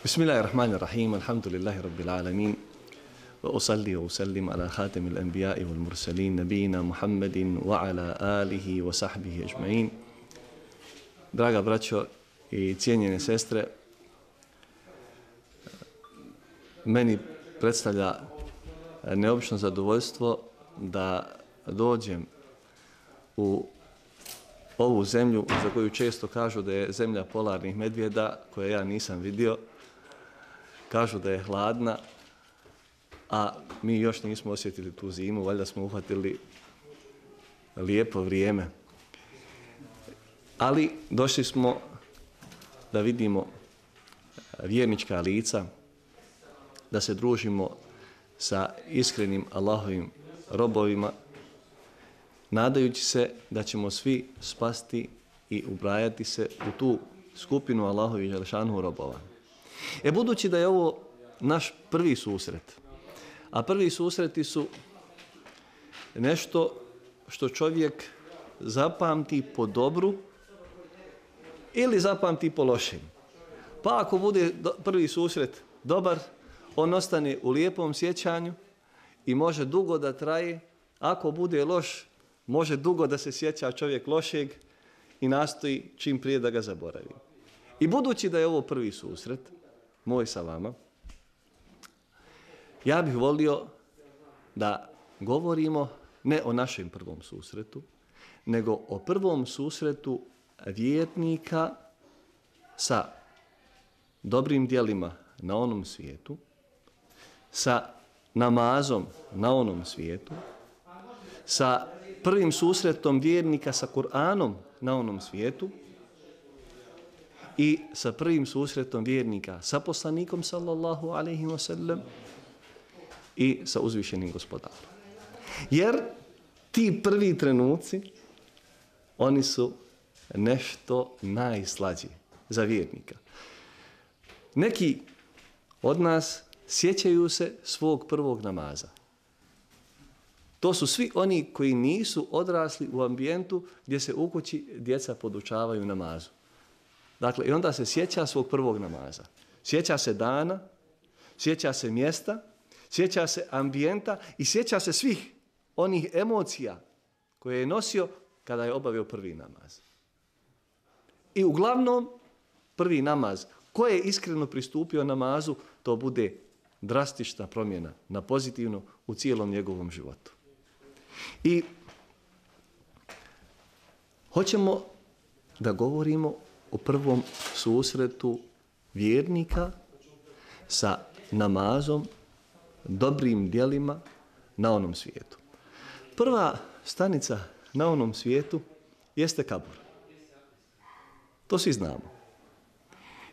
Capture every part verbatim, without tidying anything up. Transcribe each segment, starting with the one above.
Bismillahirrahmanirrahim, alhamdulillahi rabbil alamin, wa usalli wa usallim ala khatamil anbiya'i wal mursalin, nabijina Muhammedin wa ala alihi wa sahbihi ajma'in. Draga braćo i cijenjene sestre, meni predstavlja neobično zadovoljstvo da dođem u ovu zemlju za koju često kažu da je zemlja polarnih medvjeda, koje ja nisam vidio. Kažu da je hladna, a mi još nismo osjetili tu zimu, valjda smo uhvatili lijepo vrijeme. Ali došli smo da vidimo vjernička lica, da se družimo sa iskrenim Allahovim robovima, nadajući se da ćemo svi spasti i ubrajati se u tu skupinu Allahovih dželešanuhu robova. E budući da je ovo naš prvi susret, a prvi susreti su nešto što čovjek zapamti po dobru ili zapamti po lošem. Pa ako bude prvi susret dobar, on ostane u lijepom sjećanju i može dugo da traje. Ako bude loš, može dugo da se sjeća čovjek lošeg i nastoji čim prije da ga zaboravi. I budući da je ovo prvi susret moj sa vama, ja bih volio da govorimo ne o našem prvom susretu, nego o prvom susretu vjernika sa dobrim djelima na onom svijetu, sa namazom na onom svijetu, sa prvim susretom vjernika sa Kur'anom na onom svijetu i sa prvim susretom vjernika sa poslanikom sallallahu alejhi ve sellem i sa uzvišenim gospodarom. Jer ti prvi trenuci, oni su nešto najslađi za vjernika. Neki od nas sjećaju se svog prvog namaza. To su svi oni koji nisu odrasli u ambijentu gdje se u kući djeca podučavaju namazu. Dakle, i onda se sjeća svog prvog namaza. Sjeća se dana, sjeća se mjesta, sjeća se ambijenta i sjeća se svih onih emocija koje je nosio kada je obavio prvi namaz. I uglavnom, prvi namaz, ko je iskreno pristupio namazu, to bude drastična promjena na pozitivno u cijelom njegovom životu. I hoćemo da govorimo o prvom susretu vjernika sa namazom, dobrim djelima na onom svijetu. Prva stanica na onom svijetu jeste kabur. To svi znamo.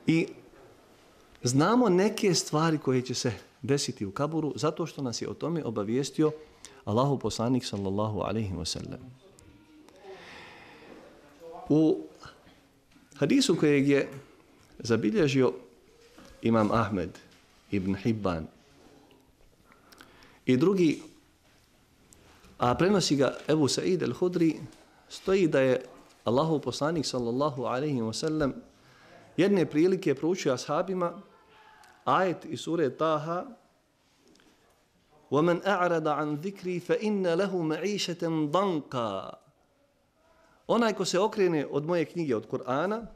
I znamo neke stvari koje će se desiti u kaburu zato što nas je o tome obavijestio Allahov poslanik sallallahu alejhi ve sellem. U hadisu kojeg je zabilježio imam Ahmed ibn Hibban i drugi, a prenosi ga Ebu Sa'id al-Hudri, stoji da je Allahov poslanik sallallahu alejhi ve sellem jedne prilike proučio ashabima ajet iz sure Taha: وَمَنْ أَعْرَضَ عَنْ ذِكْرِي فَإِنَّ لَهُ مَعِيشَةً ضَنْكًا. Onaj ko se okrene od moje knjige, od Kur'ana,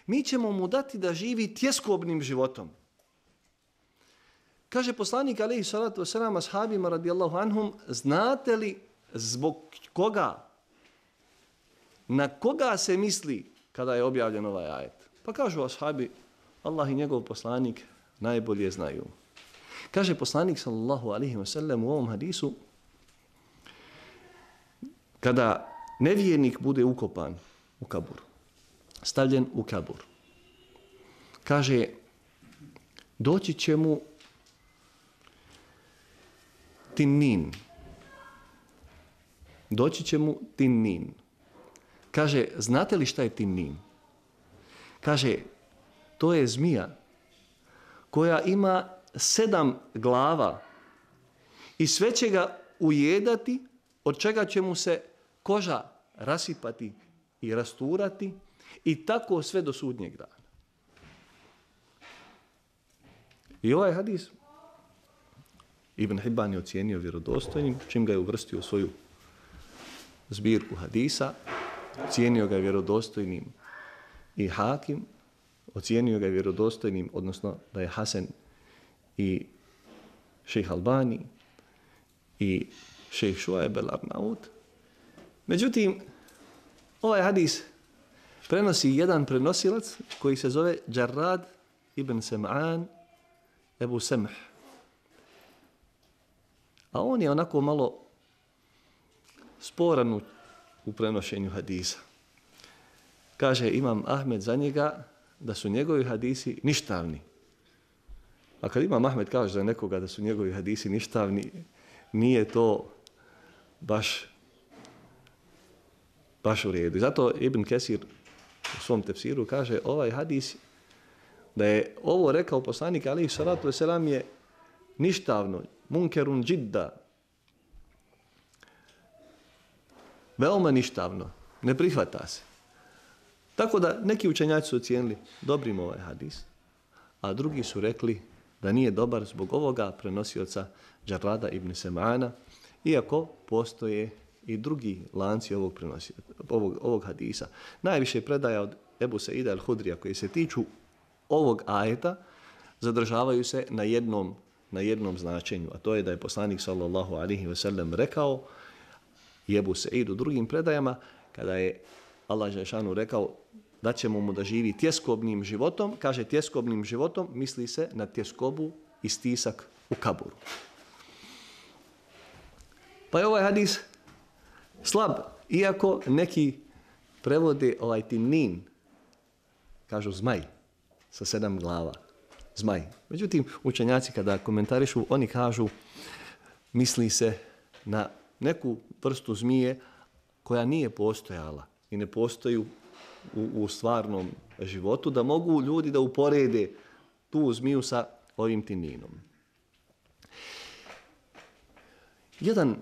mi ćemo mu dati da živi tjeskobnim životom. Kaže poslanik alejhi salatu vesselam ashabima radijallahu anhum: znate li zbog koga, na koga se misli kada je objavljen ovaj ajet? Pa kažu ashabi: Allah i njegov poslanik najbolje znaju. Kaže poslanik sallallahu alejhi ve sellem u ovom hadisu: kada nevjernik bude ukopan u kabur, stavljen u kabur, kaže, doći će mu tinnin. Doći će mu tinnin. Kaže, znate li šta je tinnin? Kaže, to je zmija koja ima sedam glava i sve će ga ujedati, od čega će mu se koža rasipati i rasturati i tako sve do sudnjeg dana. I ovaj hadis Ibn Hibban je ocijenio vjerodostojnim, čim ga je uvrstio u svoju zbirku hadisa, ocijenio ga je vjerodostojnim i Hakim, ocijenio ga je vjerodostojnim, odnosno da je Hasan i šejh Albani i šejh Šuajb el-Arnaut. Međutim, ovaj hadis prenosi jedan prenosilac koji se zove Džarrad ibn Sem'an Ebu Semh. A on je onako malo sporan u prenošenju hadisa. Kaže Imam Ahmed za njega da su njegovi hadisi ništavni. A kad Imam Ahmed kaže za nekoga da su njegovi hadisi ništavni, nije to baš, baš u redu. I zato Ibn Kesir u svom tefsiru kaže ovaj hadis, da je ovo rekao poslanik alejhi salatu vesselam je ništavno, munkerun džidda, veoma ništavno, ne prihvata se. Tako da neki učenjaci su ocijenili dobrim ovaj hadis, a drugi su rekli da nije dobar zbog ovoga prenosioca Džarrada ibn Sem'ana, iako postoje i drugi lanci ovog, prenosi, ovog, ovog hadisa. Najviše predaja od Ebu Saida al-Hudrija koji se tiču ovog ajeta zadržavaju se na jednom, na jednom značenju, a to je da je poslanik sallallahu alejhi ve sellem rekao i Ebu Said u drugim predajama, kada je Allah dželešanu rekao da ćemo mu da živi tjeskobnim životom, kaže tjeskobnim životom, misli se na tjeskobu i stisak u kaburu. Pa je ovaj hadis slab, iako neki prevode ovaj timnin, kažu zmaj, sa sedam glava, zmaj. Međutim, učenjaci kada komentarišu, oni kažu misli se na neku vrstu zmije koja nije postojala i ne postoji u, u stvarnom životu, da mogu ljudi da uporede tu zmiju sa ovim timninom. Jedan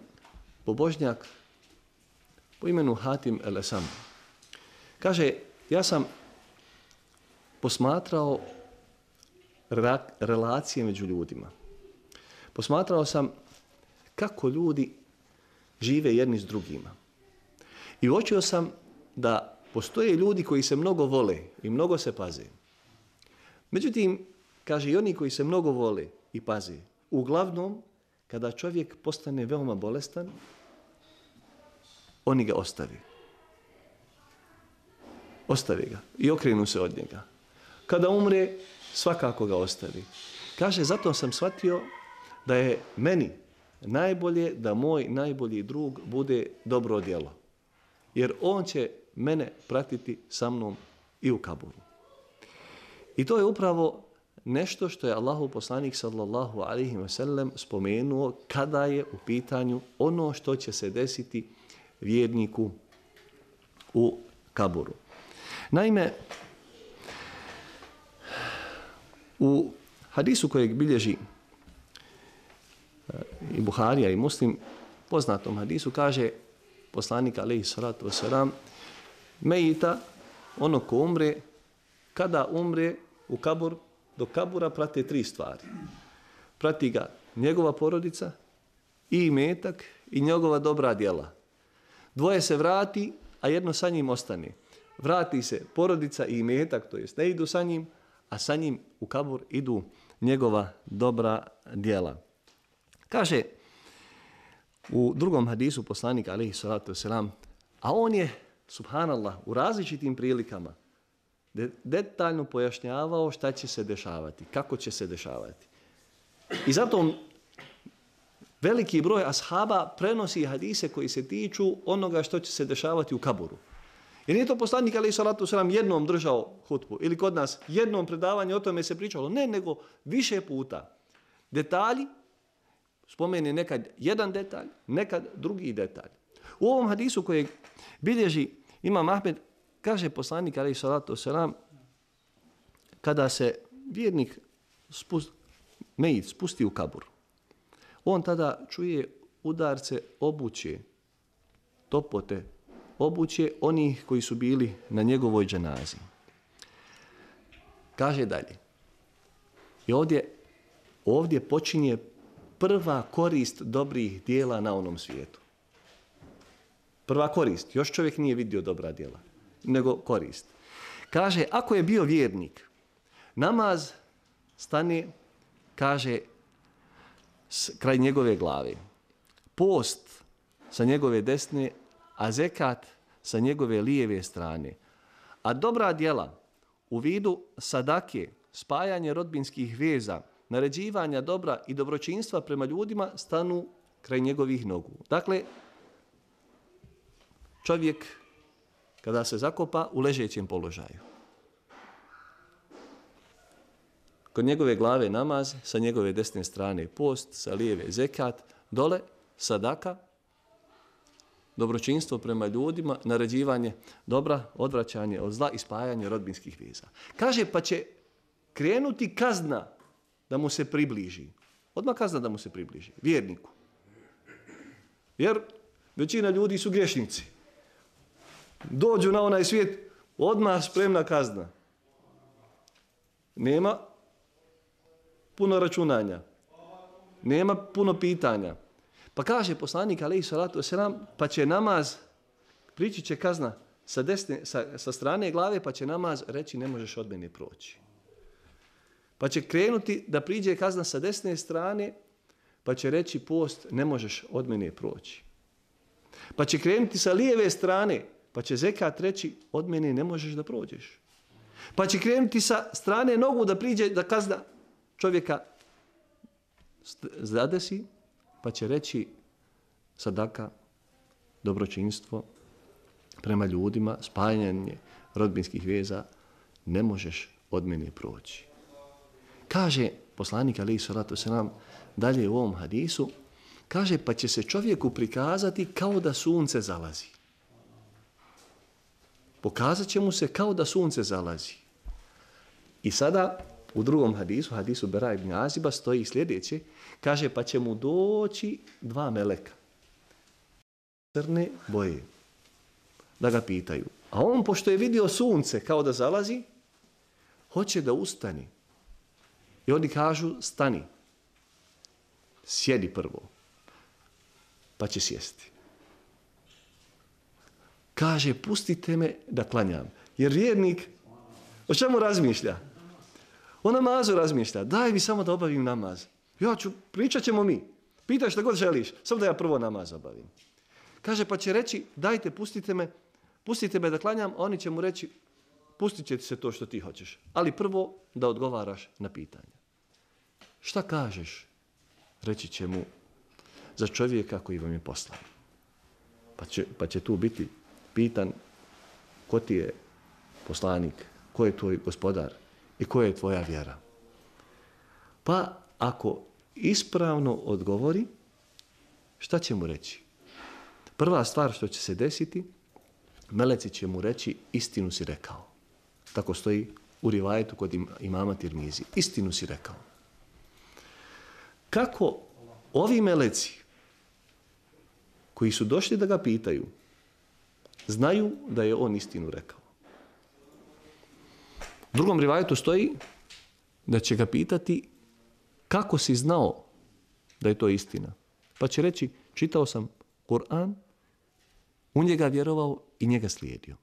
pobožnjak po imenu Hatim el-Esam kaže, ja sam posmatrao relacije među ljudima. Posmatrao sam kako ljudi žive jedni s drugima. I uočio sam da postoje ljudi koji se mnogo vole i mnogo se paze. Međutim, kaže i oni koji se mnogo vole i paze, uglavnom, kada čovjek postane veoma bolestan, oni ga ostavi. Ostavi ga i okrenu se od njega. Kada umre, svakako ga ostavi. Kaže, zato sam shvatio da je meni najbolje da moj najbolji drug bude dobro djelo. Jer on će mene pratiti sa mnom i u kaburu. I to je upravo nešto što je Allahov poslanik sallallahu alejhi ve sellem spomenuo kada je u pitanju ono što će se desiti vjerniku u kaburu. Naime, u hadisu kojeg bilježi i Buharija i Muslim, poznatom hadisu, kaže poslanik alejhi salatu vesselam, mejita, ono ko umre, kada umre u kabur, do kabura prate tri stvari. Prati ga njegova porodica i imetak i njegova dobra djela. Dvoje se vrati, a jedno sa njim ostane. Vrati se porodica i imetak, to jest ne idu sa njim, a sa njim u kabur idu njegova dobra djela. Kaže u drugom hadisu poslanik alejhi salatu vesselam, a on je, subhanallah, u različitim prilikama detaljno pojašnjavao šta će se dešavati, kako će se dešavati. I zato veliki broj ashaba prenosi hadise koji se tiču onoga što će se dešavati u kaburu. Jer nije to poslanik alejhi salatu vesselam jednom držao hutbu ili kod nas jednom predavanje o tome se pričalo, ne, nego više puta. Detalji, spomene nekad jedan detalj, nekad drugi detalj. U ovom hadisu kojeg bilježi Imam Ahmed, kaže poslanik alejhi salatu vesselam, kada se vjernik spust, mejit spusti u kabur, on tada čuje udarce obuće, topote obuće onih koji su bili na njegovoj dženazi. Kaže dalje. I ovdje ovdje počinje prva korist dobrih dijela na onom svijetu. Prva korist. Još čovjek nije vidio dobra djela, nego korist. Kaže, ako je bio vjernik, namaz stane, kaže, s, kraj njegove glave. Post sa njegove desne, a zekat sa njegove lijeve strane. A dobra djela u vidu sadake, spajanje rodbinskih veza, naređivanja dobra i dobročinstva prema ljudima stanu kraj njegovih nogu. Dakle, čovjek kada se zakopa u ležećem položaju. Kod njegove glave namaz, sa njegove desne strane post, sa lijeve zekat, dole sadaka, dobročinstvo prema ljudima, naređivanje dobra, odvraćanje od zla i spajanje rodbinskih veza. Kaže, pa će krenuti kazna da mu se približi. Odmah kazna da mu se približi, vjerniku. Jer većina ljudi su grešnici. Dođu na onaj svijet, odmah spremna kazna. Nema puno računanja. Nema puno pitanja. Pa kaže poslanik alejhi salatu vesselam, pa će namaz, prići će kazna sa, desne, sa, sa strane glave, pa će namaz reći ne možeš od mene proći. Pa će krenuti da priđe kazna sa desne strane, pa će reći post ne možeš od mene proći. Pa će krenuti sa lijeve strane, pa će zekat reći od mene ne možeš da prođeš. Pa će krenuti sa strane nogu da priđe da kazna čovjeka zadesi, pa će reći sadaka, dobročinstvo prema ljudima, spajanje rodbinskih veza, ne možeš od mene proći. Kaže poslanik alejhi salatu vesselam dalje u ovom hadisu, kaže pa će se čovjeku prikazati kao da sunce zalazi. Pokazat će mu se kao da sunce zalazi. I sada u drugom hadisu, hadisu Bera ibn Aziba, stoji sljedeće, kaže pa će mu doći dva meleka crne boje da ga pitaju. A on, pošto je vidio sunce kao da zalazi, hoće da ustani. I oni kažu stani, sjedi prvo, pa će sjesti. Kaže, pustite me da klanjam. Jer vjernik, o čemu razmišlja? O namazu razmišlja. Daj mi samo da obavim namaz. Ja ću, pričat ćemo mi. Pitaj šta god želiš, samo da ja prvo namaz obavim. Kaže, pa će reći, dajte, pustite me, pustite me da klanjam, a oni će mu reći, pustit će ti se to što ti hoćeš. Ali prvo da odgovaraš na pitanje. Šta kažeš? Reći će mu za čovjeka koji vam je poslan. Pa će, pa će tu biti pitan ko ti je poslanik, ko je tvoj gospodar i koja je tvoja vjera. Pa ako ispravno odgovori, šta će mu reći? Prva stvar što će se desiti, meleci će mu reći istinu si rekao. Tako stoji u rivajetu kod imama Tirmizi. Istinu si rekao. Kako ovi meleci koji su došli da ga pitaju, znaju da je on istinu rekao. U drugom rivajetu stoji da će ga pitati kako si znao da je to istina. Pa će reći, čitao sam Kur'an, u njega vjerovao i njega slijedio.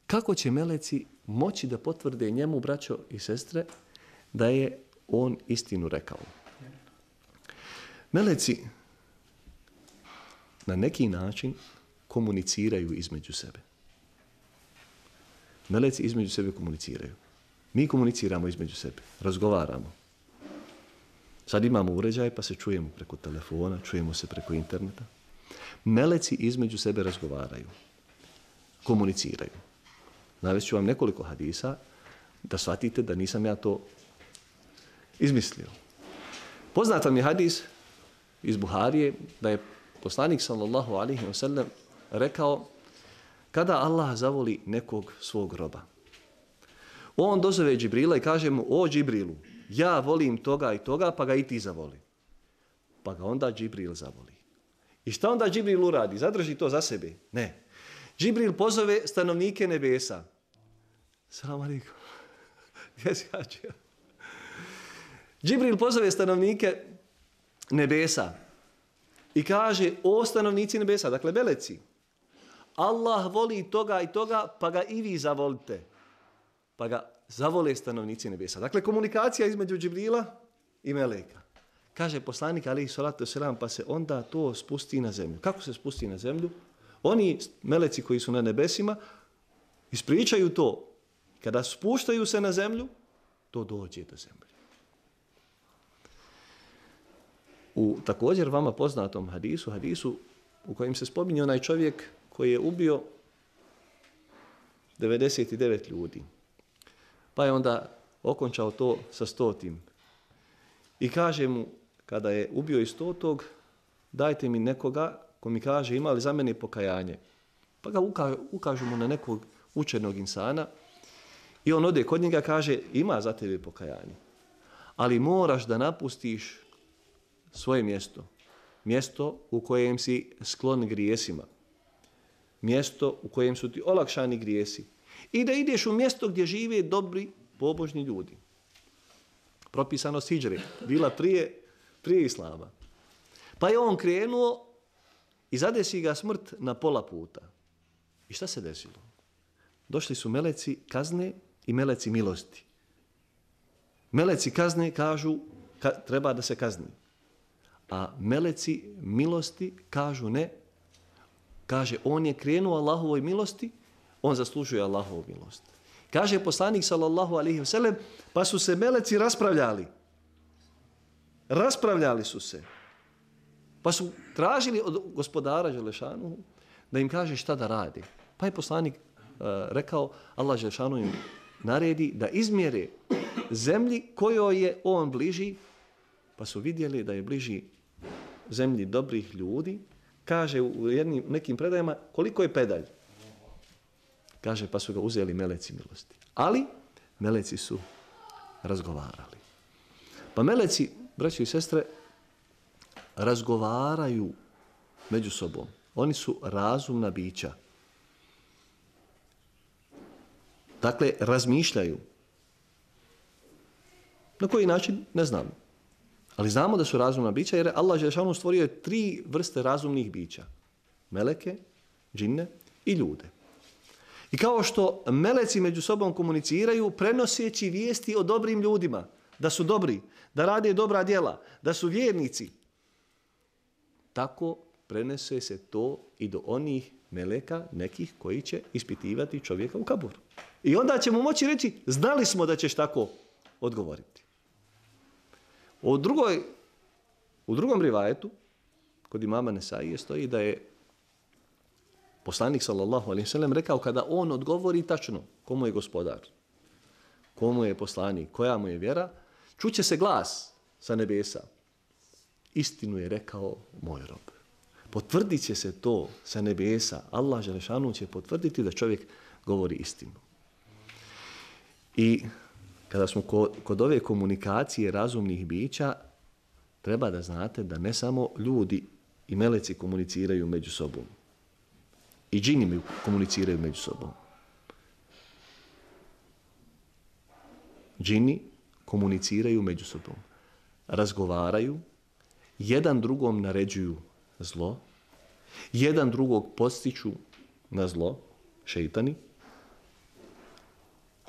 Kako će meleci moći da potvrde njemu, braćo i sestre, da je on istinu rekao? Meleci na neki način komuniciraju između sebe. Meleci između sebe komuniciraju. Mi komuniciramo između sebe, razgovaramo. Sad imamo uređaj pa se čujemo preko telefona, čujemo se preko interneta. Meleci između sebe razgovaraju, komuniciraju. Navest ću vam nekoliko hadisa da shvatite da nisam ja to izmislio. Poznat vam je hadis iz Buharije da je poslanik sallallahu alejhi ve sellem rekao kada Allah zavoli nekog svog roba. On dozove Džibrila i kaže mu, o Džibrilu, ja volim toga i toga, pa ga i ti zavoli. Pa ga onda Džibril zavoli. I šta onda Džibril uradi? Zadrži to za sebe? Ne. Džibril pozove stanovnike nebesa. Salam alejkum. Gdje si hađija? Džibril pozove stanovnike nebesa i kaže, o stanovnici nebesa, dakle meleci, Allah voli toga i toga, pa ga i vi zavolite. Pa ga zavole stanovnici nebesa. Dakle, komunikacija između Džibrila i meleka. Kaže poslanik, alejhi salatu vesselam, pa se onda to spusti na zemlju. Kako se spusti na zemlju? Oni meleci koji su na nebesima ispričaju to. Kada spuštaju se na zemlju, to dođe do zemlje. U također vama poznatom hadisu, hadisu u kojem se spominje onaj čovjek koji je ubio devedeset devet ljudi. Pa je onda okončao to sa stotim. I kaže mu, kada je ubio i stotog, dajte mi nekoga ko mi kaže, ima li za mene pokajanje? Pa ga uka, ukažu mu na nekog učenog insana i on ode kod njega, kaže, ima za tebe pokajanje. Ali moraš da napustiš svoje mjesto. Mjesto u kojem si sklon grijesima. Mjesto u kojem su ti olakšani grijesi. I da ideš u mjesto gdje žive dobri, pobožni ljudi. Propisanost hidžre bila prije, prije Islama. Pa je on krenuo i zadesi ga smrt na pola puta. I šta se desilo? Došli su meleci kazne i meleci milosti. Meleci kazne kažu ka, treba da se kazni. A meleci milosti kažu ne. Kaže, on je krenuo Allahovoj milosti, on zaslužuje Allahovu milost. Kaže poslanik sallallahu alejhi ve sellem, pa su se meleci raspravljali. Raspravljali su se. Pa su tražili od gospodara Đelešanu da im kaže šta da radi. Pa je poslanik uh, rekao, Allah Đelešanu im naredi da izmjere zemlji kojoj je on bliži, pa su vidjeli da je bliži zemlji dobrih ljudi. Kaže u jednim, nekim predajama koliko je pedalj. Kaže, pa su ga uzeli meleci milosti. Ali meleci su razgovarali. Pa meleci, braćo i sestre, razgovaraju među sobom. Oni su razumna bića. Dakle, razmišljaju. Na koji način? Ne znamo. Ali znamo da su razumna bića jer Allah dželešanu stvorio je tri vrste razumnih bića. Meleke, džinne i ljude. I kao što meleci među sobom komuniciraju prenoseći vijesti o dobrim ljudima, da su dobri, da rade dobra djela, da su vjernici, tako prenese se to i do onih meleka nekih koji će ispitivati čovjeka u kaburu. I onda ćemo moći reći, znali smo da ćeš tako odgovoriti. U, drugoj, u drugom rivajetu, kod imama Nesaije, stoji da je poslanik sallallahu alejhi ve sellem rekao kada on odgovori tačno komu je gospodar, komu je poslanik, koja mu je vjera, čuće se glas sa nebesa. Istinu je rekao moj rob. Potvrdit će se to sa nebesa. Allah dželešanu će potvrditi da čovjek govori istinu. I kada smo kod, kod ove komunikacije razumnih bića, treba da znate da ne samo ljudi i meleci komuniciraju među sobom. I džini komuniciraju među sobom. Džini komuniciraju među sobom. Razgovaraju, jedan drugom naređuju zlo, jedan drugog podstiču na zlo, šeitani,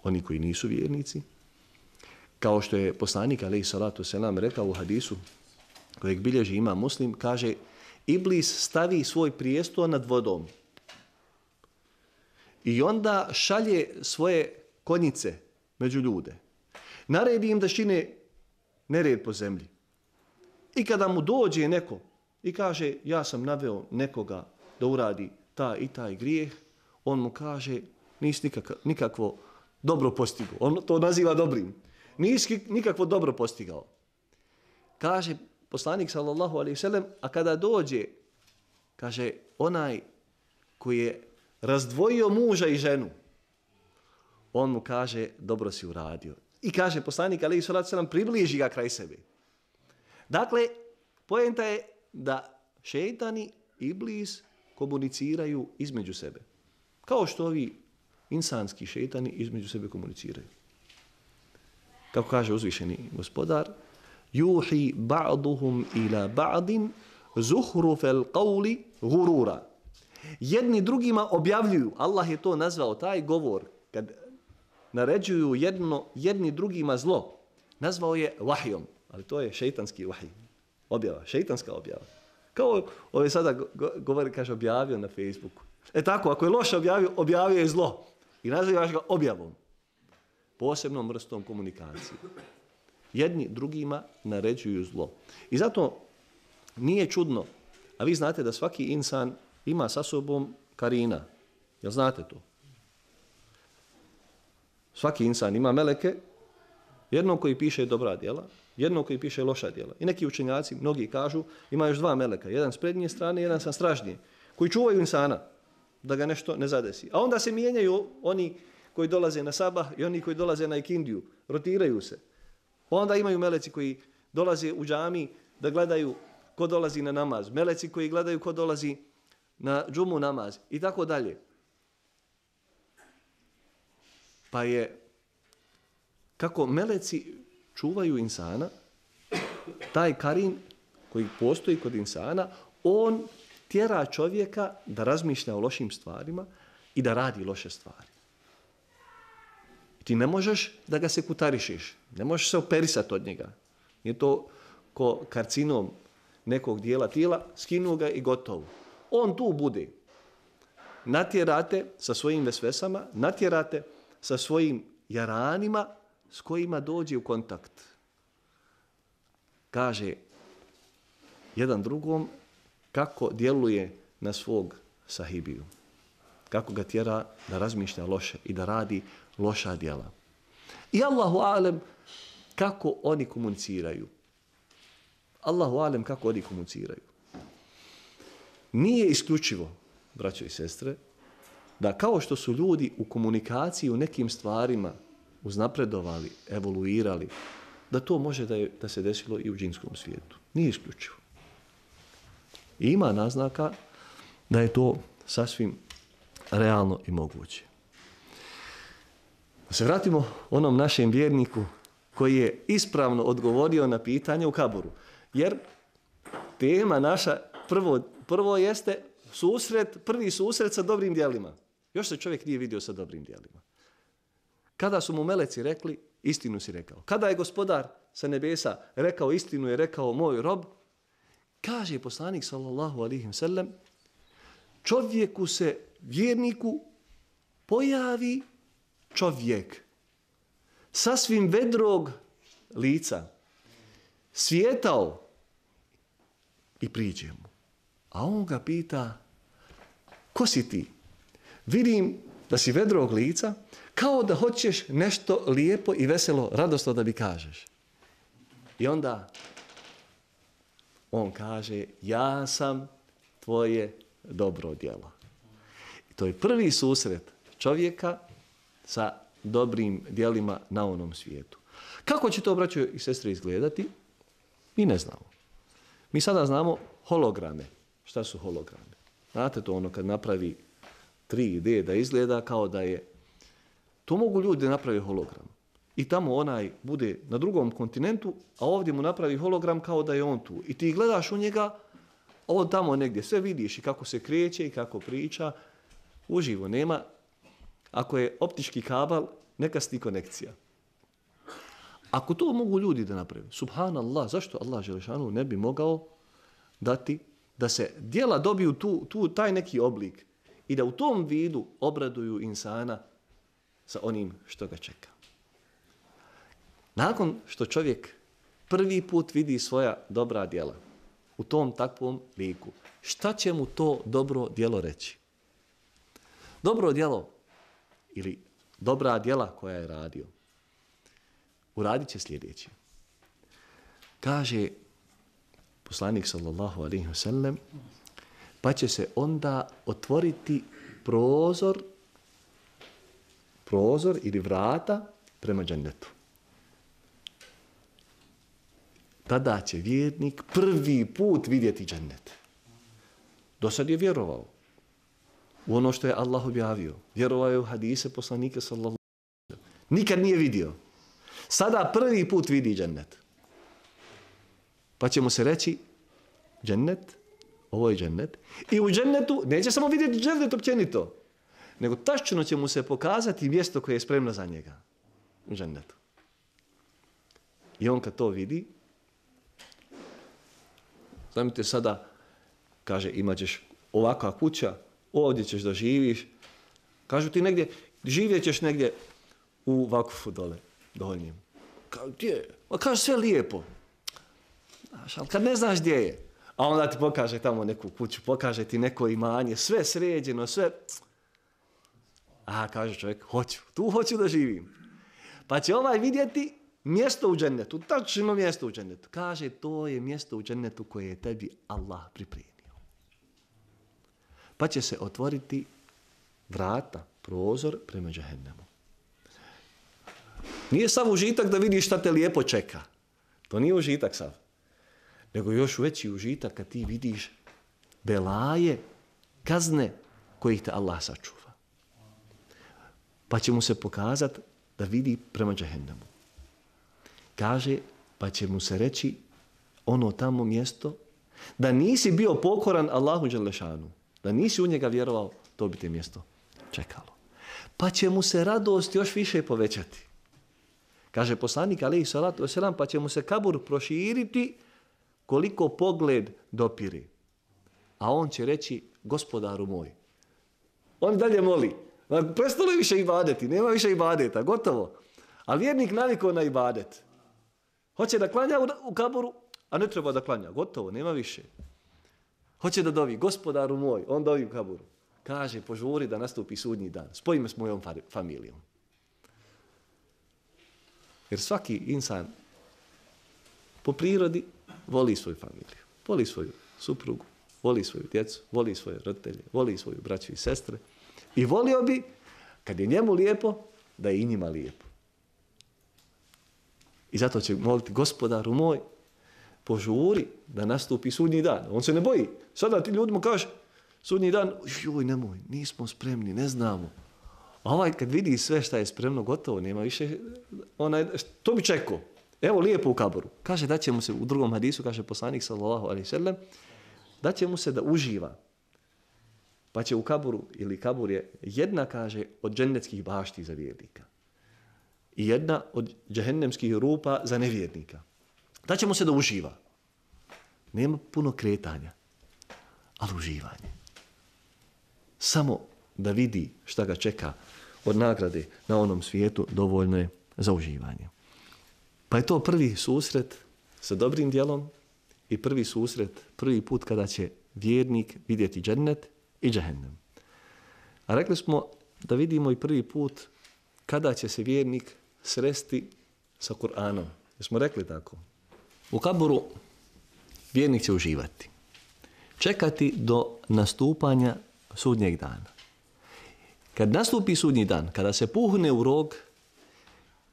oni koji nisu vjernici. Kao što je poslanik alejhi salatu selam rekao u hadisu kojeg bilježi Imam Muslim, kaže, Iblis stavi svoj prijestol nad vodom i onda šalje svoje konjice među ljude. Naredi im da čine nered po zemlji. I kada mu dođe neko i kaže, ja sam naveo nekoga da uradi taj i taj grijeh, on mu kaže, nisi nikak, nikakvo dobro postigao. On to naziva dobrim. Nisi nikakvo dobro postigao. Kaže poslanik sallallahu alejhi ve sellem, a kada dođe, kaže, onaj koji je razdvojio muža i ženu, on mu kaže, dobro si uradio. I kaže poslanik alejhi salatu selam, približi ga kraj sebe. Dakle, poenta je da šejtani i iblis komuniciraju između sebe. Kao što ovi insanski šejtani između sebe komuniciraju. Kako kaže uzvišeni gospodar, Juhi ba'duhum ila ba'din zuhrufel qawli gurura. Jedni drugima objavljuju, Allah je to nazvao, taj govor, kad naređuju jedno, jedni drugima zlo, nazvao je vahijom, ali to je šeitanski vahij, objava, šeitanska objava. Kao ove sada govori, kaže, objavio na Facebooku. E tako, ako je loše objavio, objavio je zlo. I nazivaš ga objavom. Posebnom vrstom komunikacije. Jedni drugima naređuju zlo. I zato nije čudno, a vi znate da svaki insan ima sa sobom karina. Jel znate to? Svaki insan ima meleke, jednog koji piše dobra djela, jednog koji piše loša djela. I neki učenjaci, mnogi kažu, ima još dva meleka, jedan s prednje strane, jedan sa stražnje, koji čuvaju insana da ga nešto ne zadesi. A onda se mijenjaju oni koji dolaze na sabah i oni koji dolaze na ikindiju, rotiraju se. Onda imaju meleci koji dolaze u džami da gledaju ko dolazi na namaz, meleci koji gledaju ko dolazi na džumu namaz i tako dalje. Pa je kako meleci čuvaju insana, taj karin koji postoji kod insana, on tjera čovjeka da razmišlja o lošim stvarima i da radi loše stvari. Ti ne možeš da ga sekutarišiš, ne možeš se operisati od njega. Nije to ko karcinom nekog dijela tijela, skinu ga i gotovo. On tu bude. Natjerate sa svojim vesvesama, natjerate sa svojim jaranima s kojima dođe u kontakt. Kaže jedan drugom kako djeluje na svog sahibiju. Kako ga tjera da razmišlja loše i da radi loša djela. I Allahu alem kako oni komuniciraju. Allahu alem kako oni komuniciraju. Nije isključivo, braćo i sestre, da kao što su ljudi u komunikaciji u nekim stvarima uznapredovali, evoluirali, da to može da, je, da se desilo i u džinskom svijetu. Nije isključivo. I ima naznaka da je to sasvim realno i moguće. Da se vratimo onom našem vjerniku koji je ispravno odgovorio na pitanje u kaburu. Jer tema naša prvo, prvo jeste susret, prvi susret sa dobrim djelima. Još se čovjek nije vidio sa dobrim djelima. Kada su mu meleci rekli, istinu si rekao. Kada je gospodar sa nebesa rekao istinu, je rekao moj rob, kaže poslanik sallallahu alejhi ve sellem, čovjeku se, vjerniku, pojavi čovjek sasvim vedrog lica, svijetao i priđe mu. A on ga pita, ko si ti? Vidim da si vedrog lica, kao da hoćeš nešto lijepo i veselo, radosno da mi kažeš. I onda on kaže, ja sam tvoje dobro djelo. I to je prvi susret čovjeka sa dobrim djelima na onom svijetu. Kako će to, braćo i sestre, izgledati? Mi ne znamo. Mi sada znamo holograme. Šta su holograme? Znate to ono kad napravi tri D da izgleda kao da je... To mogu ljudi napravi hologram. I tamo onaj bude na drugom kontinentu, a ovdje mu napravi hologram kao da je on tu. I ti gledaš u njega, on tamo negdje sve vidiš i kako se kreće i kako priča. Uživo nema. Ako je optički kabel, neka sti konekcija. Ako to mogu ljudi da napravi, subhanallah, zašto Allah Želešanu ne bi mogao dati da se djela dobiju tu, tu taj neki oblik i da u tom vidu obraduju insana sa onim što ga čeka. Nakon što čovjek prvi put vidi svoja dobra djela u tom takvom liku, šta će mu to dobro djelo reći? Dobro djelo ili dobra djela koja je radio, uradit će sljedeće. Kaže poslanik sallallahu alejhi ve sellem, pa će se onda otvoriti prozor, prozor ili vrata prema džennetu. Tada će vjernik prvi put vidjeti džennet. Do sad je vjerovao u ono što je Allah objavio. Vjerovao je u hadise poslanika sallallahu alejhi ve sellem. Nikad nije vidio. Sada prvi put vidi džennet. Pa će mu se reći džennet, ovo je džennet. I u džennetu neće samo vidjeti džennet općenito, nego tačno će mu se pokazati mjesto koje je spremno za njega u džennetu. I on kad to vidi, znamite sada, kaže, imat ćeš ovakva kuća, ovdje ćeš da živiš. Kažu ti negdje, živjet ćeš negdje u Vakufu dole, donjem. Kao, gdje je? Ma kaže, sve lijepo. Znaš, ali kad ne znaš gdje je, a onda ti pokaže tamo neku kuću, pokaže ti neko imanje, sve sređeno, sve... A, kaže čovjek, hoću, tu hoću da živim. Pa će ovaj vidjeti mjesto u džennetu, tačno mjesto u džennetu. Kaže, to je mjesto u džennetu koje je tebi Allah pripremio. Pa će se otvoriti vrata, prozor prema džehennemu. Nije sav užitak da vidiš šta te lijepo čeka. To nije užitak sav. Nego još veći užitak kad ti vidiš belaje, kazne kojih te Allah sačuva. Pa će mu se pokazati da vidi prema džehennemu. Kaže, pa će mu se reći ono tamo mjesto da nisi bio pokoran Allahu dželešanu, da nisi u njega vjerovao, to bi te mjesto čekalo. Pa će mu se radost još više povećati. Kaže poslanik alejhi salatu vesselam, pa će mu se kabur proširiti koliko pogled dopiri. A on će reći, gospodaru moj. On dalje moli. Prestalo je više ibadeti, nema više ibadeta, gotovo. A vjernik navikao na ibadet. Hoće da klanja u kaburu, a ne treba da klanja, gotovo, nema više. Hoće da dovi, gospodaru moj, on dovi u kaburu. Kaže, požuri da nastupi sudnji dan. Spoji me s mojom familijom. Jer svaki insan po prirodi voli svoju familiju. Voli svoju suprugu, voli svoju djecu, voli svoje roditelje, voli svoju braću i sestre. I volio bi, kad je njemu lijepo, da je i njima lijepo. I zato će moliti, gospodaru moj, požuri da nastupi sudnji dan. On se ne boji. Sada ti ljudima kaže, sudnji dan, joj nemoj, nismo spremni, ne znamo. A ovaj kad vidi sve šta je spremno, gotovo, nema više, onaj, to bi čekao. Evo lijepo u kaboru. Kaže da će mu se, u drugom hadisu, kaže poslanik sallallahu alejhi ve sellem, da će mu se da uživa. Pa će u kaburu, ili kabur je jedna, kaže, od džennetskih bašti za vjernika. I jedna od džehennemskih rupa za nevjernika. Da će mu se da uživa. Nema puno kretanja, ali uživanje. Samo da vidi šta ga čeka od nagrade na onom svijetu, dovoljno je za uživanje. Pa je to prvi susret sa dobrim djelom i prvi susret, prvi put kada će vjernik vidjeti džennet i džehennem. A rekli smo da vidimo i prvi put kada će se vjernik sresti sa Kur'anom. Jesmo rekli tako? U kaburu vjernik će uživati. Čekati do nastupanja sudnjeg dana. Kad nastupi sudnji dan, kada se puhne u rog,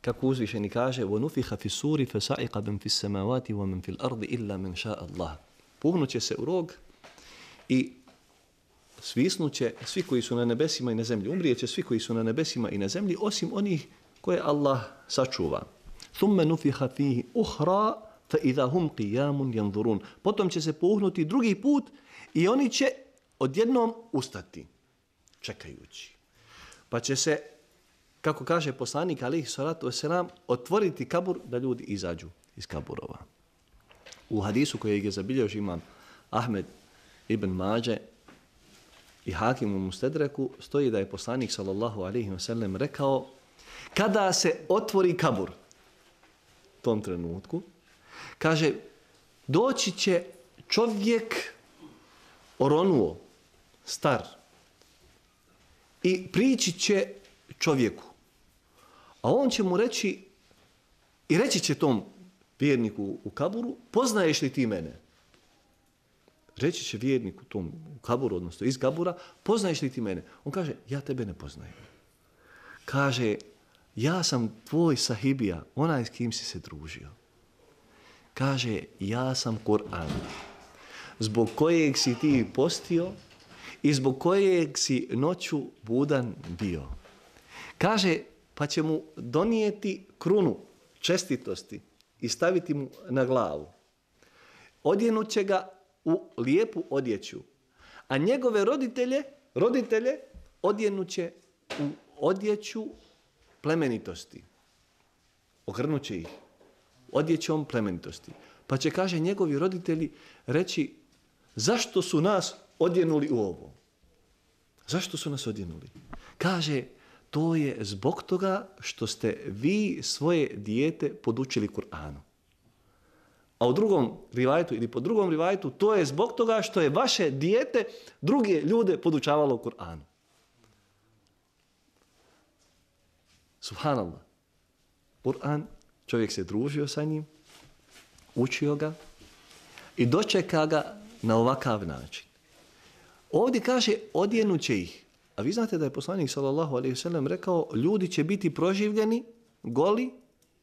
kako uzvišeni kaže, وَنُفِخَ فِي السُّورِ فَسَعِقَ مَنْ فِي السَّمَوَاتِ وَمَنْ فِي الْأَرْضِ إِلَّا مَنْ شَاءَ اللَّهِ. Puhnuće se u rog i svisnuće svi koji su na nebesima i na zemlji. Umrijeće svi koji su na nebesima i na zemlji, osim onih koje Allah sačuva. ثُمَّ نُفِخَ فِيهِ أُخْرَى فَإِذَا هُمْ قِيَامٌ يَنْظُرُونَ. Potom će se puhnuti drugi put i oni će odjednom ustati, čekajući. Pa će se, kako kaže poslanik alejhi salatu vesselam, otvoriti kabur da ljudi izađu iz kaburova. U hadisu kojeg je zabilježio imam Ahmed ibn Mađe i Hakim u Mustedreku stoji da je poslanik sallallahu alejhi ve sellem rekao, kada se otvori kabur u tom trenutku, kaže, doći će čovjek oronuo, star, i prići će čovjeku. A on će mu reći, i reći će tom vjerniku u kaburu, poznaješ li ti mene? Reći će vjerniku tom u kaburu, odnosno iz kabura, poznaješ li ti mene? On kaže, ja tebe ne poznajem. Kaže, ja sam tvoj sahibija, onaj s kim si se družio. Kaže, ja sam Kur'an, zbog kojeg si ti postio i zbog kojeg si noću budan bio. Kaže, pa će mu donijeti krunu čestitosti i staviti mu na glavu. odjenut će ga u lijepu odjeću. A njegove roditelje, roditelje odjenut će u odjeću plemenitosti. Ogrnut će ih odjećom plemenitosti. Pa će, kaže, njegovi roditelji reći, zašto su nas odjenuli u ovo? Zašto su nas odjenuli? Kaže, to je zbog toga što ste vi svoje dijete podučili Kur'anu. A u drugom rivajetu ili po drugom rivajetu, to je zbog toga što je vaše dijete druge ljude podučavalo Kur'anu. Subhanallah. Kur'an, čovjek se družio sa njim, učio ga i dočeka ga na ovakav način. Ovdje kaže, odjenut će ih. A vi znate da je poslanik sallallahu alejhi ve sellem rekao, ljudi će biti proživljeni, goli,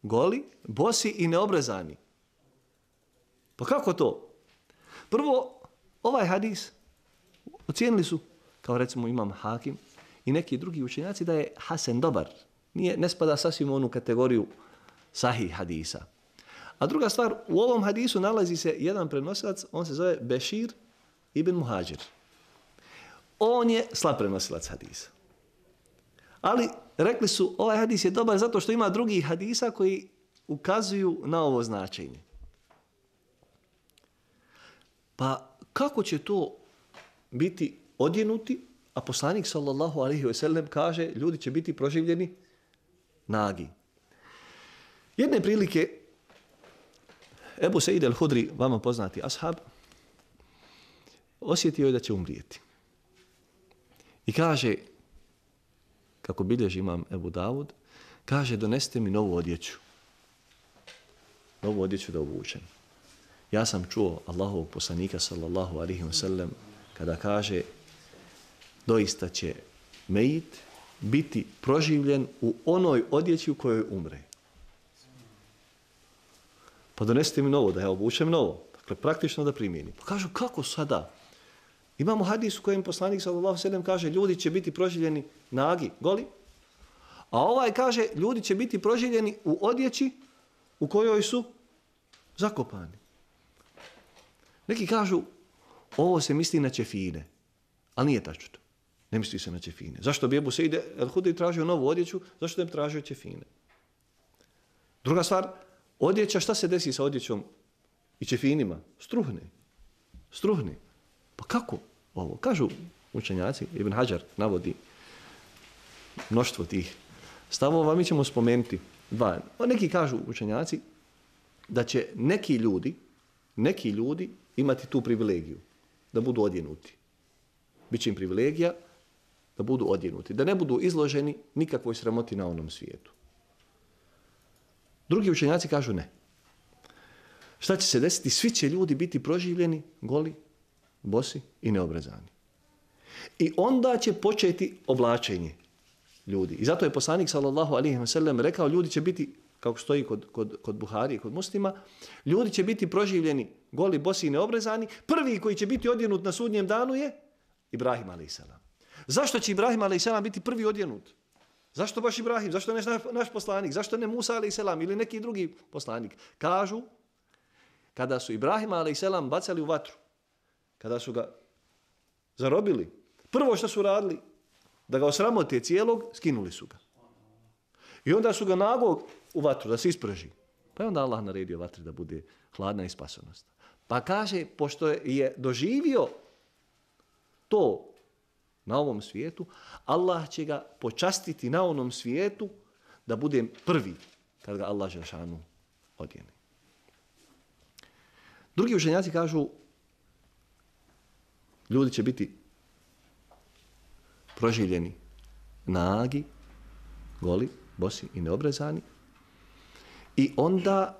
goli, bosi i neobrezani. Pa kako to? Prvo, ovaj hadis ocijenili su, kao recimo imam Hakim i neki drugi učenjaci, da je hasen dobar. Nije, ne spada sasvim u onu kategoriju sahih hadisa. A druga stvar, u ovom hadisu nalazi se jedan prenosilac, on se zove Bešir ibn Muhađir. On je slab prenosilac hadisa. Ali rekli su, ovaj hadis je dobar zato što ima drugih hadisa koji ukazuju na ovo značenje. Pa kako će to biti odjenuti, a poslanik sallallahu alejhi ve sellem kaže, ljudi će biti proživljeni nagi. Jedne prilike, Ebu Seid el-Hudri, vama poznati ashab, osjetio je da će umrijeti. I kaže, kako bilježi imam Ebu Davud, kaže, donesite mi novu odjeću. Novu odjeću da obučem. Ja sam čuo Allahovog poslanika sallallahu alejhi ve sellem kada kaže, doista će mejit biti proživljen u onoj odjeći u kojoj umre. Pa donesite mi novo, da ja obučem novo. Dakle, praktično da primijenim. Pa kažu, kako sada? Imamo hadis u kojem poslanik sallallahu alejhi ve sellem kaže, ljudi će biti proživljeni nagi, goli. A ovaj kaže, ljudi će biti proživljeni u odjeći u kojoj su zakopani. Neki kažu, ovo se misli na ćefine, ali nije tačno. Ne misli se na ćefine. Zašto bi Ebu Seid el-Hudri tražio novu odjeću? Zašto ne bi tražio ćefine? Druga stvar, odjeća, šta se desi sa odjećom i ćefinima? Struhne. Struhne. Pa kako ovo? Kažu učenjaci, Ibn Hajar navodi mnoštvo tih stavova, mi ćemo spomenuti dva. Neki kažu učenjaci da će neki ljudi, neki ljudi imati tu privilegiju, da budu odjenuti. Biće im privilegija da budu odjenuti, da ne budu izloženi nikakvoj sramoti na onom svijetu. Drugi učenjaci kažu ne. Šta će se desiti? Svi će ljudi biti proživljeni, goli, bosi i neobrezani. I onda će početi oblačenje ljudi. I zato je poslanik sallallahu alejhi ve sellem rekao, ljudi će biti, kako stoji kod, kod, kod Buhari i kod Muslima, ljudi će biti proživljeni, goli, bosi i neobrezani. Prvi koji će biti odjenut na sudnjem danu je Ibrahim alejselam. Zašto će Ibrahim alejselam biti prvi odjenut? Zašto baš Ibrahim? Zašto ne naš, naš poslanik? Zašto ne Musa alejselam ili neki drugi poslanik? Kažu, kada su Ibrahim alejselam bacali u vatru, kada su ga zarobili, prvo što su radili, da ga osramote cijelog, skinuli su ga. I onda su ga nagog u vatru, da se isprži. Pa je onda Allah naredio vatri da bude hladna i spasonosna. Pa kaže, pošto je doživio to na ovom svijetu, Allah će ga počastiti na onom svijetu da bude prvi kad ga Allah želešanu odjeni. Drugi učenjaci kažu, ljudi će biti proživljeni nagi, goli, bosi i neobrezani. I onda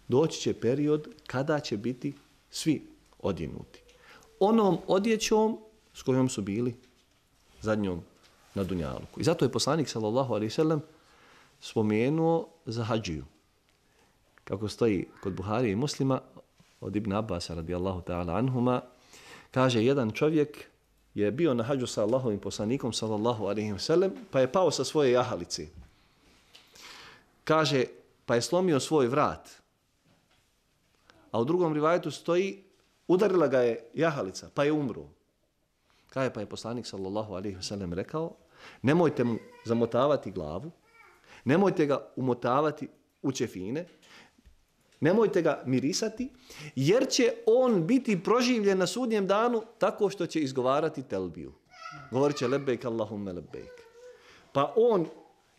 doći će period kada će biti svi odjenuti. Onom odjećom s kojom su bili zadnjom na dunjaluku. I zato je poslanik sallallahu alejhi ve sellem spomenuo za hadžiju. Kako stoji kod Buharije i Muslima, od Ibn Abbasa radijallahu ta'ala anhuma, kaže, jedan čovjek je bio na hadžu sa Allahovim poslanikom sallallahu alejhi ve sellem, pa je pao sa svoje jahalice. Kaže, pa je slomio svoj vrat. A u drugom rivajetu stoji, udarila ga je jahalica, pa je umro. Kaže, pa je poslanik sallallahu alejhi ve sellem rekao, nemojte mu zamotavati glavu, nemojte ga umotavati u ćefine, nemojte ga mirisati, jer će on biti proživljen na sudnjem danu tako što će izgovarati telbiju. Govorit će lebejk Allahumme lebejk. Pa on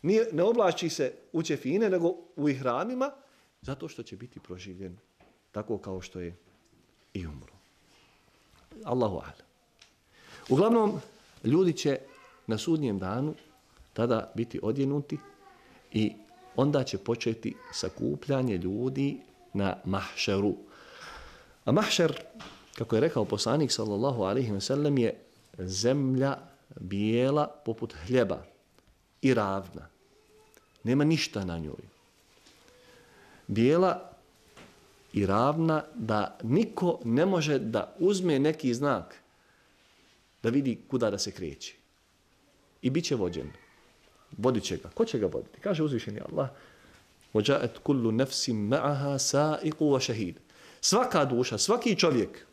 nije, ne oblači se u ćefine, nego u ihramima, zato što će biti proživljen tako kao što je i umro. Allahu a'lam. Uglavnom, ljudi će na sudnjem danu tada biti odjenuti i onda će početi sakupljanje ljudi na mahšeru. A mahšer, kako je rekao poslanik sallallahu alejhi ve sellem, je zemlja bijela poput hljeba i ravna. Nema ništa na njoj. Bijela i ravna da niko ne može da uzme neki znak da vidi kuda da se kreće. I bit će vođen. Vodit će ga. Ko će ga voditi? Kaže uzvišeni Allah, وَجَاءَتْ كُلُّ نَفْسٍ مَعَهَا سَائِقُ وَشَهِيدٌ. Svaka duša, svaki čovjek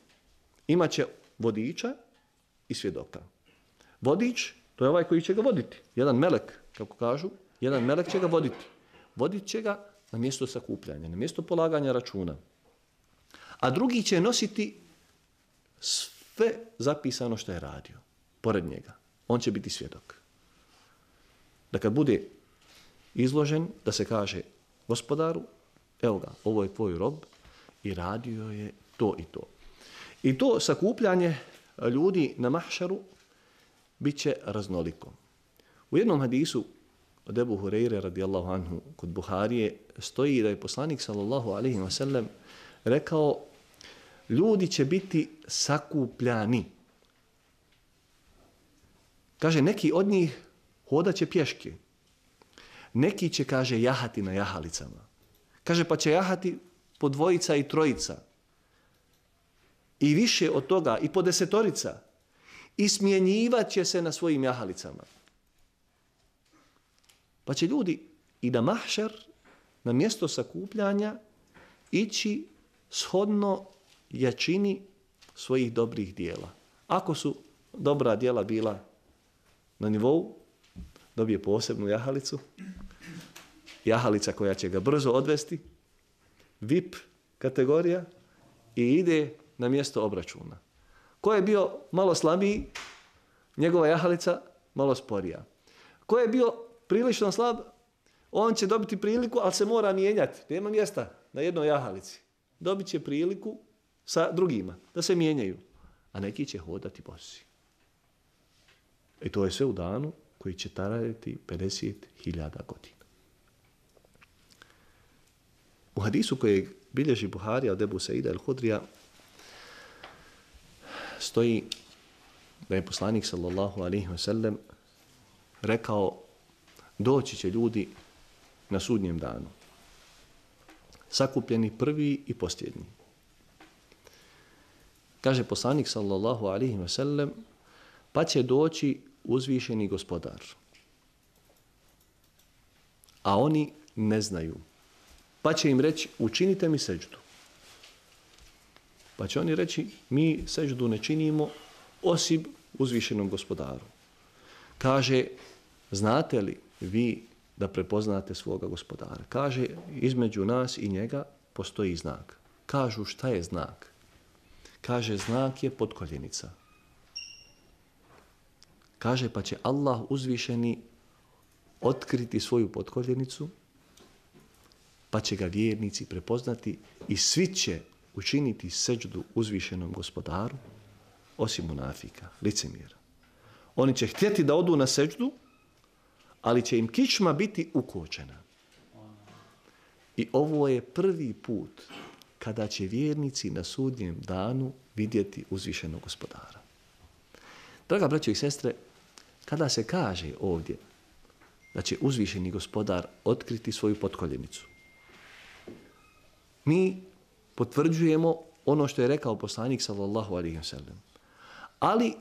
imat će vodiča i svjedoka. Vodič, to je ovaj koji će ga voditi. Jedan melek, kako kažu, jedan melek će ga voditi. Vodit će ga na mjesto sakupljanja, na mjesto polaganja računa. A drugi će nositi sve zapisano što je radio, pored njega. On će biti svjedok. Da kad bude izložen, da se kaže gospodaru, evo ga, ovo je tvoj rob i radio je to i to. I to sakupljanje ljudi na mahšaru bit će raznoliko. U jednom hadisu od Ebu Hureyre radijallahu anhu kod Buharije stoji da je poslanik sallallahu alejhi ve sellem rekao, ljudi će biti sakupljani. Kaže, neki od njih hodat će pješke. Neki će, kaže, jahati na jahalicama. Kaže, pa će jahati po dvojica i trojica. I više od toga, i po desetorica. I smjenjivat će se na svojim jahalicama. Pa će ljudi i na mahšer, na mjesto sakupljanja, ići shodno jačini svojih dobrih dijela. Ako su dobra dijela bila na nivou, dobije posebnu jahalicu, jahalica koja će ga brzo odvesti, V I P kategorija, i ide na mjesto obračuna. Ko je bio malo slabiji, njegova jahalica malo sporija. Ko je bio prilično slab, on će dobiti priliku, ali se mora mijenjati. Nema mjesta na jednoj jahalici. Dobit će priliku sa drugima, da se mijenjaju. A neki će hodati bosi. I to je sve u danu koji će trajati pedeset hiljada godina. U hadisu kojeg bilježi Buharija od Ebu Saida el-Hudrija stoji da je poslanik sallallahu alejhi ve sellem rekao, doći će ljudi na sudnjem danu, sakupljeni prvi i posljednji. Kaže poslanik sallallahu alejhi ve sellem, pa će doći uzvišeni gospodar. A oni ne znaju. Pa će im reći, učinite mi seđdu. Pa će oni reći, mi seđdu ne činimo osim uzvišenom gospodaru. Kaže, znate li vi da prepoznate svoga gospodara? Kaže, između nas i njega postoji znak. Kažu, šta je znak? Kaže, znak je potkoljenica. Kaže, pa će Allah uzvišeni otkriti svoju potkoljenicu, pa će ga vjernici prepoznati i svi će učiniti seđdu uzvišenom gospodaru, osim munafika, licemjera. Oni će htjeti da odu na seđdu, ali će im kičma biti ukočena. I ovo je prvi put kada će vjernici na sudnjem danu vidjeti uzvišenog gospodara. Draga braćo i sestre, kada se kaže ovdje da će uzvišeni gospodar otkriti svoju potkoljenicu, mi potvrđujemo ono što je rekao poslanik sallallahu alejhi ve sellem. Ali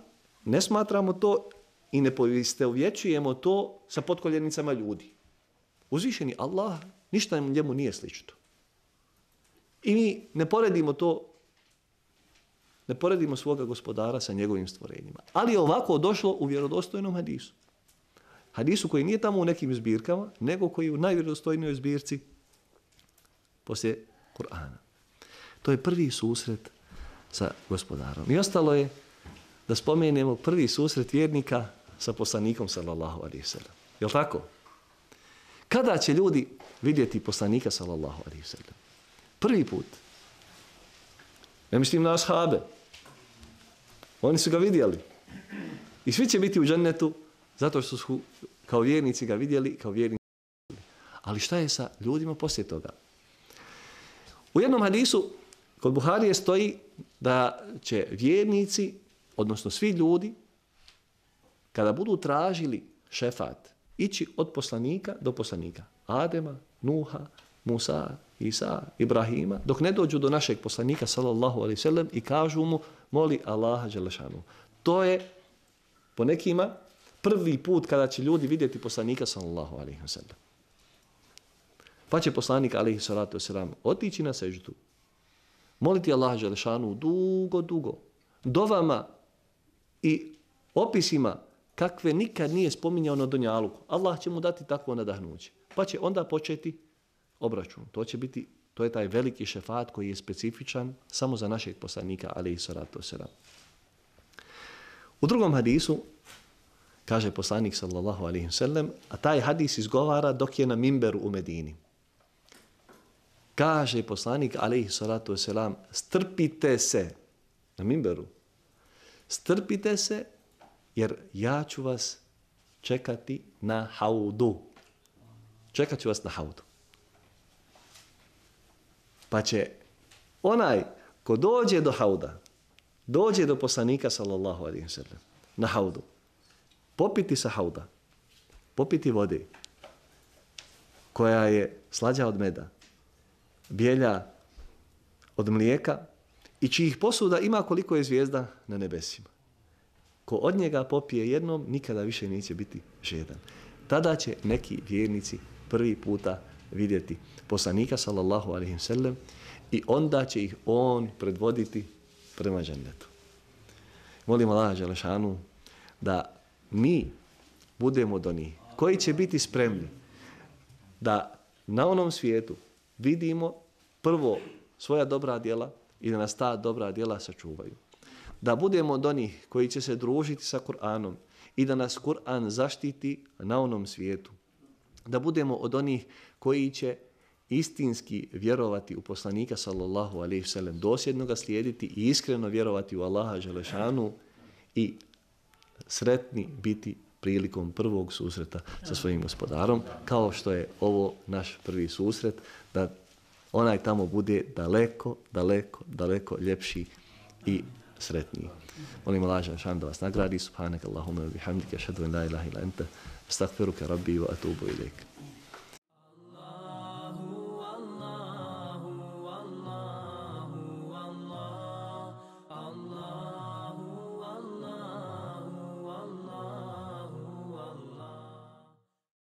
ne smatramo to i ne poistovjećujemo to sa potkoljenicama ljudi. Uzvišeni Allah, ništa njemu nije slično. I mi ne poredimo to, ne poredimo svoga gospodara sa njegovim stvorenjima. Ali je ovako došlo u vjerodostojnom hadisu. Hadisu koji nije tamo u nekim zbirkama, nego koji je u najvjerodostojnijoj zbirci poslije Kur'ana. To je prvi susret sa gospodarom. I ostalo je da spomenemo prvi susret vjernika sa poslanikom sallallahu alejhi ve sellem. Jel' tako? Kada će ljudi vidjeti poslanika sallallahu alejhi ve sellem? Prvi put. Ne mislim na ashabe. Oni su ga vidjeli. I svi će biti u džennetu zato što su kao vjernici ga vidjeli, kao vjernici. Ali šta je sa ljudima poslije toga? U jednom hadisu kod Buharije stoji da će vjernici, odnosno svi ljudi, kada budu tražili šefat, ići od poslanika do poslanika. Adema, Nuha, Musa, Isa, Ibrahima, dok ne dođu do našeg poslanika sallallahu alejhi ve sellem i kažu mu moli Allaha dželle šanu. To je po nekima prvi put kada će ljudi vidjeti poslanika sallallahu alejhi ve sellem. Pa će poslanik alejhi salatu vesselam otići na seždu, moliti Allaha dželle šanu dugo, dugo, dovama i opisima kakve nikad nije spominjao na dunjaluku. Allah će mu dati takvo nadahnuće. Pa će onda početi obračun. To će biti, to je taj veliki šefat koji je specifičan samo za našeg poslanika alejhi salatu vesselam. U drugom hadisu kaže poslanik sallallahu alejhi ve sellem, a taj hadis izgovara dok je na mimberu u Medini. Kaže poslanik alejhi salatu vesselam, strpite se na mimberu. Strpite se jer ja ću vas čekati na haudu. Čekat ću vas na haudu. Pa će onaj ko dođe do hauda, dođe do poslanika sallallahu alejhi ve sellem na haudu, popiti sa hauda, popiti vode koja je slađa od meda, bijelja od mlijeka i čijih posuda ima koliko je zvijezda na nebesima. Ko od njega popije jednom, nikada više neće biti žedan. Tada će neki vjernici prvi puta vidjeti poslanika sallallahu alejhi ve sellem i onda će ih on predvoditi prema džennetu. Molim Allaha dželle šanu da mi budemo od onih koji će biti spremni da na onom svijetu vidimo prvo svoja dobra djela i da nas ta dobra djela sačuvaju. Da budemo od onih koji će se družiti sa Kur'anom i da nas Kur'an zaštiti na onom svijetu. Da budemo od onih koji će istinski vjerovati u poslanika sallallahu alejhi ve sellem, dosljedno ga slijediti i iskreno vjerovati u Allaha dželle šanu i sretni biti prilikom prvog susreta sa svojim gospodarom, kao što je ovo naš prvi susret, da onaj tamo bude daleko, daleko, daleko ljepši i sretniji. Molim Allaha dželle šanu da vas nagradi. Subhanaka Allahumma wa bihamdika, ašhadu an la ilaha illa anta, astaghfiruka rabbi wa atubu ilejk.